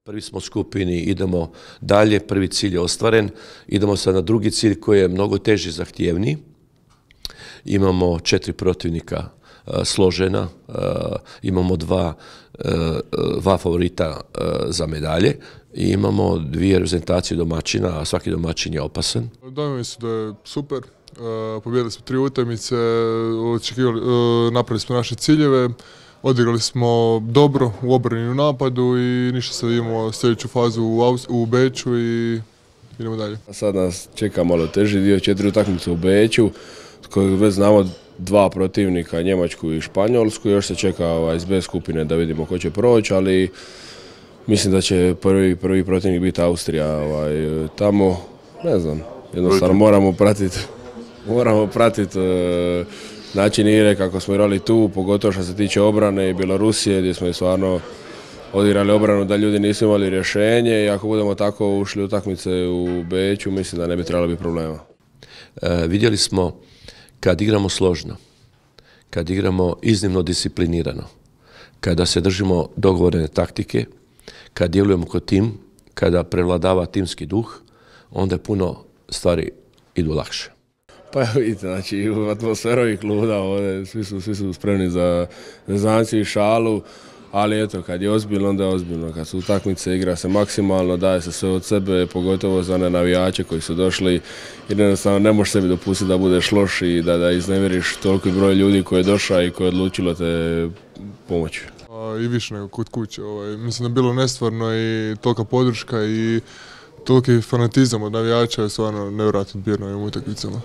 Prvi smo u skupini, idemo dalje, prvi cilj je ostvaren, idemo sad na drugi cilj koji je mnogo teži, zahtjevniji. Imamo 4 protivnika složena, imamo dva favorita za medalje i imamo 2 reprezentacije domaćina, a svaki domaćin je opasan. Dojmovi su da je super, pobijedili smo 3 utakmice, napravili smo naše ciljeve, odigrali smo dobro u obrani i u napadu i ništa, sad idemo sljedeću fazu u Beču i idemo dalje. Sad nas čeka malo teži dio, 4 utakmice u Beču, kojeg već znamo 2 protivnika, Njemačku i Španjolsku, još se čeka iz B skupine da vidimo ko će proći, ali mislim da će prvi protivnik biti Austrija. Tamo, ne znam, jednostavno moramo pratiti način igre kako smo igrali tu, pogotovo što se tiče obrane i Bjelorusije gdje smo stvarno odigrali obranu da ljudi nisu imali rješenje i ako budemo tako ušli utakmice u Beču, mislim da ne bi trebalo biti problema. Vidjeli smo kad igramo složno, kad igramo iznimno disciplinirano, kada se držimo dogovorene taktike, kad djelujemo kao tim, kada prevladava timski duh, onda puno stvari idu lakše. Pa vidite, znači u atmosferu i kluda ovdje svi su spremni za zezanci i šalu, ali eto, kad je ozbiljno, onda je ozbiljno. Kad su utakmice, igra se maksimalno, daje se sve od sebe, pogotovo za one navijače koji su došli i jednostavno ne možeš sebi dopustiti da budeš loš i da iznevjeriš toliki broj ljudi koji je došao i koji je odlučilo te pomoći. I više nego kod kuće. Mislim da je bilo nestvarno i tolika podrška i toliki fanatizam od navijača je stvarno nevjerojatno bio na ovim utakmicama.